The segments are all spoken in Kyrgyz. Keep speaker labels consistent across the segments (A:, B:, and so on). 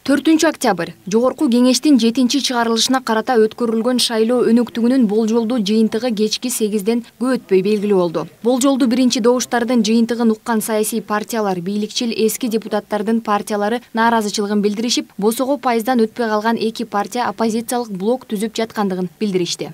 A: 4 октябрь Жогорку кеңештин 7-чыгарылышына карата өткөрүлгөн шайлоо өнөктүгүнүн болжолдуу жыйынтыгы кечки 8-ден көп өтпөй белгилүү болду. Болжолдуу биринчи добуштардын жыйынтыгын уккан саясий партиялар, бийликчил эски депутаттардын партиялары нааразычылыгын билдиришип, босого пайыздан өтпөй калган 2 партия оппозициялык блок түзүп жаткандыгын билдиришти.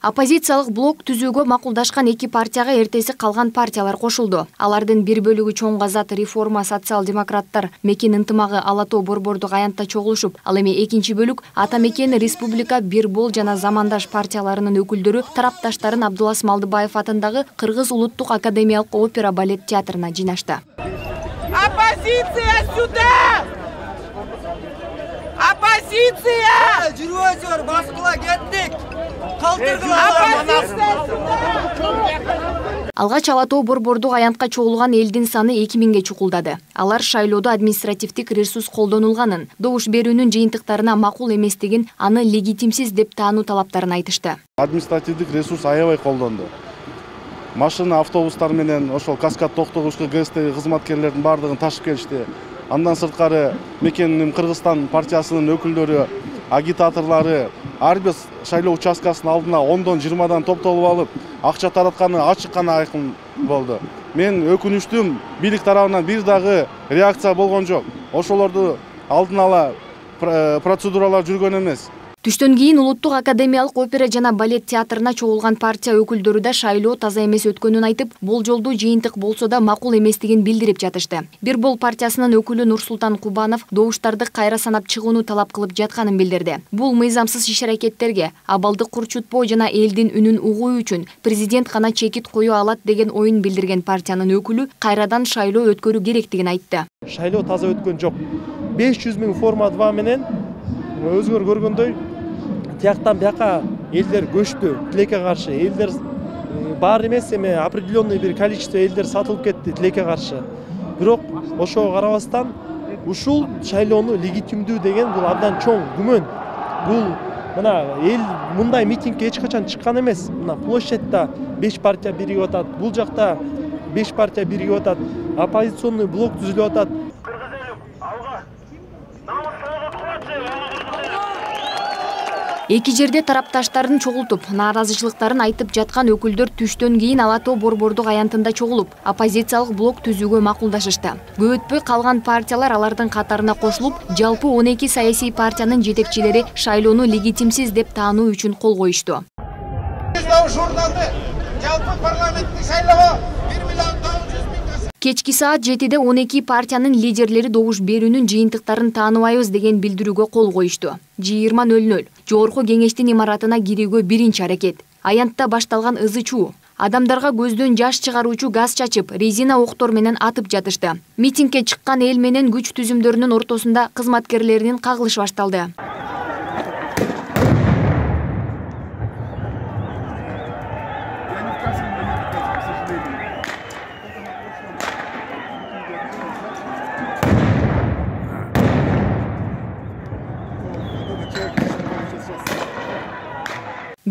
A: Оппозициялык блок түзүүгө макулдашкан 2 партияга эртеси калган партиялар кошулду. Алардын бир бөлүгү Чоң Азат, Реформа, Социал-демократтар, Мекен ынтымагы Ала-Тоо Борбордук аянтта чогулушуп, ал эми экинчи бөлүк Ата Мекен, Республика, Бир Бол жана Замандаш партияларынын өкүлдөрү тарапташтарын Абдулас Малдыбаев атындагы Кыргыз улуттук академиялык опера балет театрына жыйнашты.
B: Оппозиция сюда! Оппозиция!
C: Жүрөзөр, баскыла кеттик.
A: Алгач Ала-Тоо Борбордук аянтка чогулган элдин саны 2000ге чукулдады. Алар шайлоодо административдик ресурс колдонулганын, добуш берүүнүн жыйынтыктарына макул эместигин, аны легитимсиз деп таануу талаптарын айтышты.
D: Административдик ресурс аябай колдонду. Машина, автобустар менен ошол каскад токтогучку ГСТ кызматкерлердин бардыгын ташып келишти. Андан сырткары Мекенин Кыргызстан партиясынын өкүлдөрү, агитаторлары ар бир шайлоо участкасынын алдына 10-20 топтолуп алып, акча таратканы ачык гана айкын болду. Мен өкүнүчтүм, бийлик тарабынан бир дагы реакция болгон жок. Ошолорду алдын ала процедуралар жүргөн эмес.
A: Түштөн кийин Улуттук академиялык опера жана балет театрына чогулган партия өкүлдөрү да шайлоо таза эмес өткөнүн айтып, болжолдуу жыйынтык болсо да макул эместигин билдирип жатышты. Бир Бол партиясынын өкүлү Нурсултан Кубанов добуштарды кайра санап чыгууну талап кылып жатканын билдирди. Бул мыйзамсыз иш-аракеттерге, абалды курчутпоо жана элдин үнүн угуу үчүн президент гана чекит кое алат деген оюн билдирген партиянын өкүлү кайрадан шайлоо өткөрүү керектигин айтты.
E: Шайлоо таза өткөн жок. 500 000 форма 2 менен өзгөр көргөндөй тияктан бияка элдер көчтү, тилекке каршы. Элдер бар эмес, эми определенный бир количество элдер сатылып кетти тилекке каршы. Бирок ошого карабастан ушул шайлоону легитимдүү деген бул абдан чоң күмөн. Бул мына эл мындай митингге эч качан чыккан эмес. Мына площадьта 5 партия биригип атат, бул жакта 5 партия биригип атат, оппозиционный блок түзүлүп атат.
A: Эки жерде тарапташтарын чогултуп, нааразычылыктарын айтып жаткан өкүлдөр түштөн кийин Ала-Тоо Борбордук аянтында чогулуп, оппозициялык блок түзүүгө макулдашышты. Көп өтпөй калган партиялар алардын катарына кошулуп, жалпы 12 саясий партиянын жетекчилери шайлоону легитимсиз деп таануу үчүн кол коюшту.
B: Жалпы парламенттик шайлоого 1 миллион 900 000
A: Кечки саат 7-де 12 партиянын лидерлери добуш берүүнүн жыйынтыктарын тааныбайбыз деген билдирүүгө кол коюшту. 20:00 Жогорку кеңештин имаратына кирүүгө биринчи аракет. Аянтта башталган ызы-чуу. Адамдарга көздөн жаш чыгаруучу газ чачып, резина октор менен атып жатышты. Митингге чыккан эл менен күч түзүмдөрүнүн ортосунда кызматкерлеринин кагылышы башталды.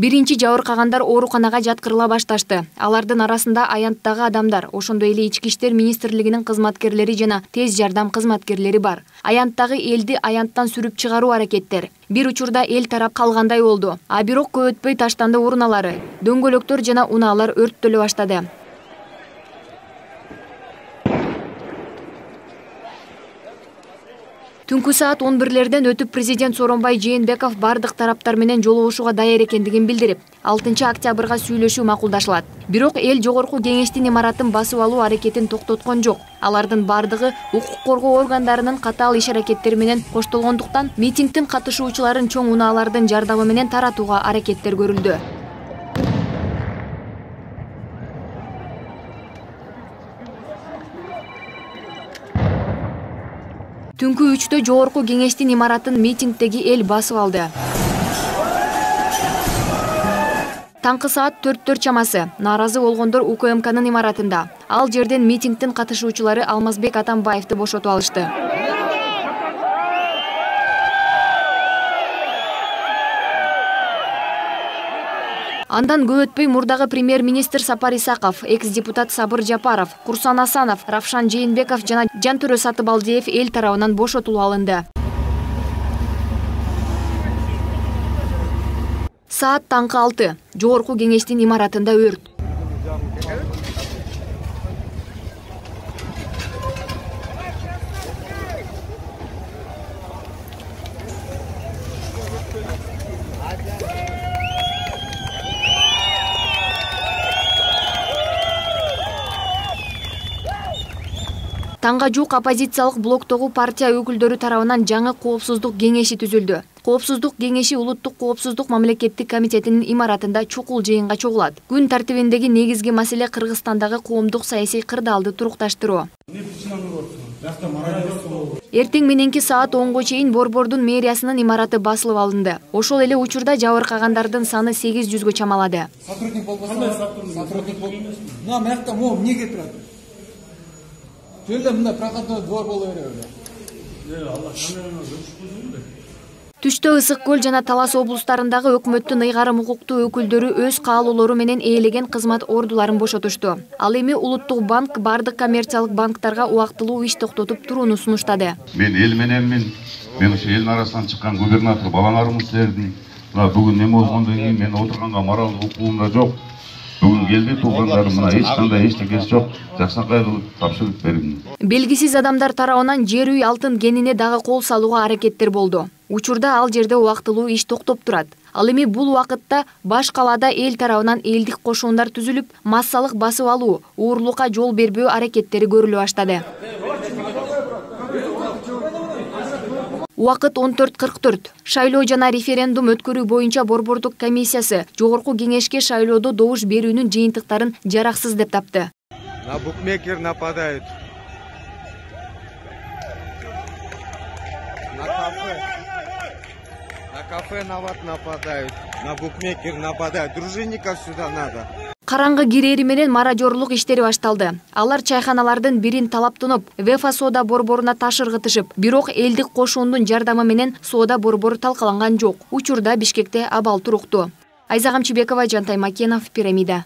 A: Биринчи жабыркагандар ооруканага жаткырыла башташты. Алардын арасында аянттагы адамдар, ошондой эле Ички иштер министрлигинин кызматкерлери жана тез жардам кызматкерлери бар. Аянттагы элди аянттан сүрүп чыгаруу аракеттер. Бир учурда эл тарап калгандай болду. А бирок көп өтпөй таштанды уруналары, дөңгөлөктөр жана унаалар өрттөлө баштады. Түнкү саат 11-лерден өтүп президент Сооронбай Жээнбеков бардык тараптар менен жолугушууга даяр экендигин билдирип, 6 октябрга сүйлөшүү макулдашылат. Бирок эл Жогорку кеңештин имаратын басып алуу аракетин токтоткон жок. Алардын бардыгы укук коргоо органдарынын катаал иш-аракеттери менен коштолгондуктан митингдин катышуучуларын чоң унаалардын жардамы менен таратууга аракеттер көрүлдү. Түнкү 3-тө Жогорку кеңештин имаратын митингдеги эл басып алды. Таңкы саат 4 чамасы нааразы болгондор УКМКнын имаратында. Ал жерден митингдин катышуучулары Алмазбек Атамбаевди бошотуп алышты. Андан көп өтпөй мурдагы премьер-министр Сапар Исаков, экс-депутат Сабыр Жапаров, Курсан Асанов, Равшан Жээнбеков жана Жантөрө Сатыбалдиев эл тарабынан бошотулуп алынды. Саат таңкы 6. Жогорку кеңештин имаратында өрт. Таңга жук оппозициялык блоктогу партия өкүлдөрү тарабынан жаңы коопсуздук кеңеши түзүлдү. Коопсуздук кеңеши Улуттук коопсуздук мамлекеттик комитетинин имаратында чукул жыйынга чогулат. Күн тартибиндеги негизги маселе Кыргызстандагы коомдук саясий кырдаалды турукташтыруу. Эртең мененки саат 10го чейин Борбордун мэриясынын имараты басылып алынды. Ошол эле учурда жабыркагандардын саны 800гө чамалады.
B: Сотрудник болбосо, сотрудник бол. Мына могу эмнеге турат? Жөндөм мында проходной двор боло береби.
A: Түштө Ысык көл жана Талас облустарындагы өкмөттүн ыйгарым укуктуу өкүлдөрү өз каалоолору менен ээлеген кызмат ордуларын бошотушту. Ал эми Улуттук банк бардык коммерциялык банктарга убактылуу иш токтотуп турууну сунуштады.
F: Мен эл мененмин. Мен ошо элдин арасынан чыккан губернатор балаңарымыз силердин. Бүгүн эме болгондон кийин мен отурганга моралдык укугум да жок. Бүгүн келди туугандарым мына эч кандай эчтекеси жок. Жаксакай кылып тапшырып бердим.
A: Белгисиз адамдар тарабынан жер үй алтын кенине дагы кол салууга аракеттер болду. Учурда ал жерде убактылуу иш токтоп турат. Ал эми бул убакытта баш калаада эл тарабынан элдик кошундар түзүлүп, массалык басып алуу, уурулукка жол бербөө аракеттери көрүлө баштады. Убакыт 14:44. Шайлоо жана референдум өткөрүү боюнча Борбордук комиссиясы жогорку кеңешке шайлоодо добуш берүүнүн жыйынтыктарын жараксыз деп тапты.
C: На букмекер нападают. На кафе нападают. На букмекер нападают. Дружинников сюда надо.
A: Караңгы кирери менен маражорлук иштери башталды. Алар чайханалардын бирин талаптанып, Вефа соода борборуна таш ыргытышып, бирок элдик кошуундун жардамы менен соода борбору талкаланган жок. Учурда Бишкекте абал туруктуу. Айза Камчыбекова, Жантай Макенов, Пирамида.